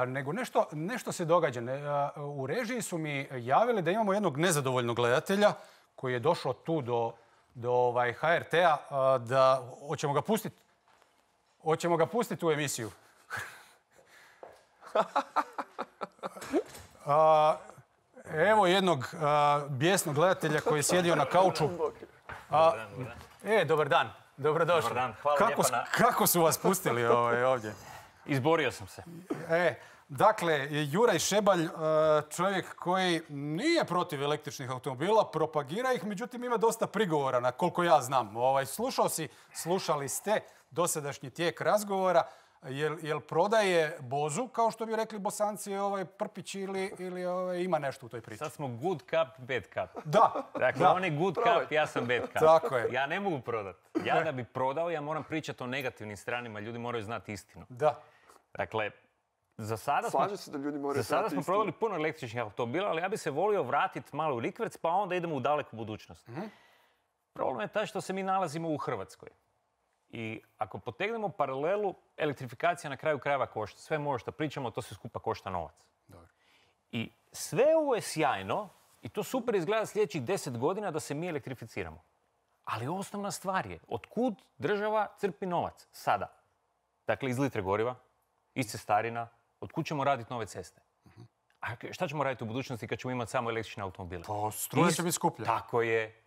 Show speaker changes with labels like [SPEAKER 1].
[SPEAKER 1] Nego nešto se događa. U režiji su mi javili da imamo jednog nezadovoljnog gledatelja koji je došao tu do HRT-a, da hoćemo ga pustiti u emisiju. Evo jednog bijesnog gledatelja koji je sjedio na kauču. Dobar dan. Dobrodošli.
[SPEAKER 2] Dobar dan, hvala lijepa na...
[SPEAKER 1] Kako su vas pustili ovdje?
[SPEAKER 2] Izborio sam se.
[SPEAKER 1] Dakle, Juraj Šebalj, čovjek koji nije protiv električnih automobila, propagira ih, međutim ima dosta prigovora, na koliko ja znam. Slušali ste dosadašnji tijek razgovora. Jel prodaje bozu, kao što bi rekli Bosanci, prpić ili ima nešto u toj priči?
[SPEAKER 2] Sad smo good cup, bad cup.
[SPEAKER 1] Da.
[SPEAKER 2] Dakle, on je good cup, ja sam bad cup.
[SPEAKER 1] Tako je.
[SPEAKER 2] Ja ne mogu prodati. Ja da bi prodao, ja moram pričati o negativnim stranima. Ljudi moraju znati istinu.
[SPEAKER 1] Da.
[SPEAKER 2] Dakle, za sada smo
[SPEAKER 3] istinu.
[SPEAKER 2] prodali puno električnih automobila, ali ja bi se volio vratiti malo u rikverc, pa onda idemo u daleku budućnost. Problem je taj što se mi nalazimo u Hrvatskoj. I ako potegnemo paralelu, elektrifikacija na kraju krajeva košta. Sve može što pričamo, to sve skupa košta novac.
[SPEAKER 1] Dobro.
[SPEAKER 2] I sve ovo je sjajno i to super izgleda sljedećih 10 godina da se mi elektrificiramo. Ali osnovna stvar je, otkud država crpi novac sada? Dakle, iz litre goriva, iz cestarina, otkud ćemo raditi nove ceste? A šta ćemo raditi u budućnosti kad ćemo imati samo električne automobile?
[SPEAKER 1] Pa struja će biti skuplja.
[SPEAKER 2] Tako je.